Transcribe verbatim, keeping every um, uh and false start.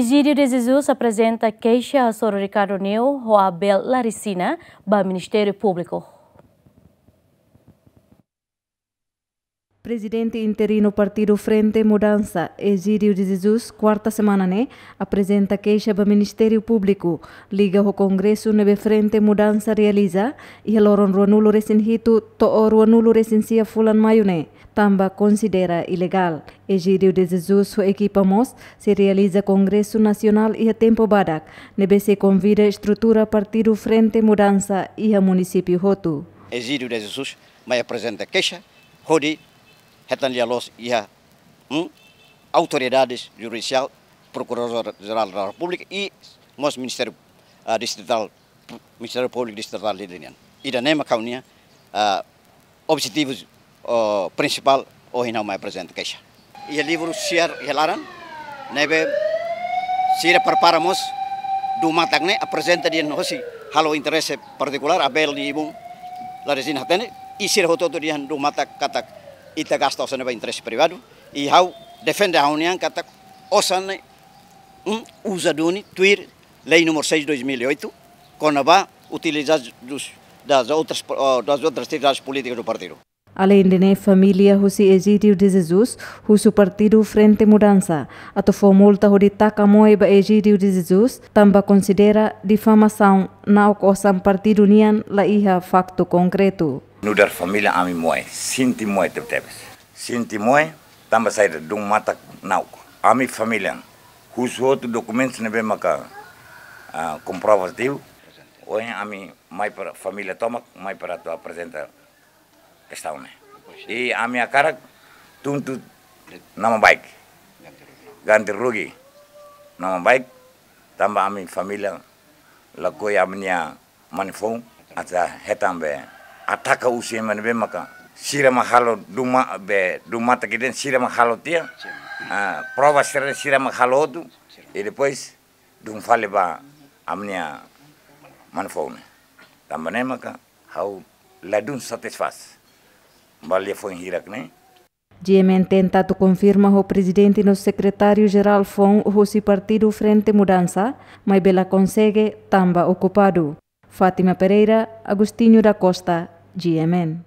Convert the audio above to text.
Egídio de Jesus aprezenta keixa hasoru Ricardo Neu ho Abel Laricina ba Ministériu Públiku. Prezidente interinu Partidu Frente Mudansa, Egídio de Jesus, kuarta semana ne'e, aprezenta keixa ba Ministériu Públiku, liga ho kongresu ne'ebé Frente Mudansa realiza, iha loron ruanulu-resin-hitu to'o ruanulu-resin-sia fulan Maiu ne'e, tanba konsidera ilegál. Egídio de Jesus ho ekipa mós sei realiza kongresu nasionál iha tempu badak, ne'ebé sei konvida estrutura Partidu Frente Mudansa iha munisípiu hotu. Egídio de Jesus mai aprezenta keixa, hodi hetan lia-loos iha, hmm, autoridades judisiál, Prokuradór Jerál da Repúblika i mós Ministériu, ah, Distritál, Ministériu Públiku Distritál Dili nian. Ida-ne'e mak ha'u-nia, ah, objetivu, oh, prinsipál ohin ha'u mai aprezenta keixa. Iha livru siar iha laran, ne'ebé sira prepara mós, duun matak ne'e aprezenta dehan hosi halo interese partikulár, Abel nia ibun Laricina hatene, i sira hotu-hotu dehan duun matak katak ita gasta osan ne'e ba interese privadu, i ha'u defende ha'u-nian katak osan ne'e, hmm, uza duni tuir Lei número seis dois mil e oito, kona-ba utilização dos, das outras, oh, das outras atividades políticas do partido. Aleinde ne'e, família husi Egídio de Jesus husu Partidu Frente Mudansa atu fó multa hodi taka moe ba Egídio de Jesus, tanba konsidera difamasaun, na'ok osan partidu nian, la iha faktu konkretu. Nu'udar família ami moe, sente moe tebetebes. Sente moe, tanba saida, duun matak na'ok. Ami família husu hotu dokumentus ne'ebé maka, ah, komprovativu. Ohin ami mai para família tomak, mai para atu aprezenta kestaun ne'e. I ami hakarak tuntut nama baik. Ganti rugi nama baik, tanba ami família lakohi ami-nia mane-foun atu hetan be ataka husi ema ne'ebé maka sira mak halo duun ma-, be duun matak ida-ne'e sira mak halo tiha. Ah, prova sira, sira mak halo hotu. I depois duun fali ba ami-nia mane-foun ne'e. Tanba ne'e maka ha'u ladún satisfás ba liafuan hirak ne'e. G M N tenta atu konfirma ho prezidente no sekretáriu-jerál foun husi Partidu Frente Mudansa, maibé la konsege tanba okupadu. Fátima Pereira, Agostinho da Costa, G M N.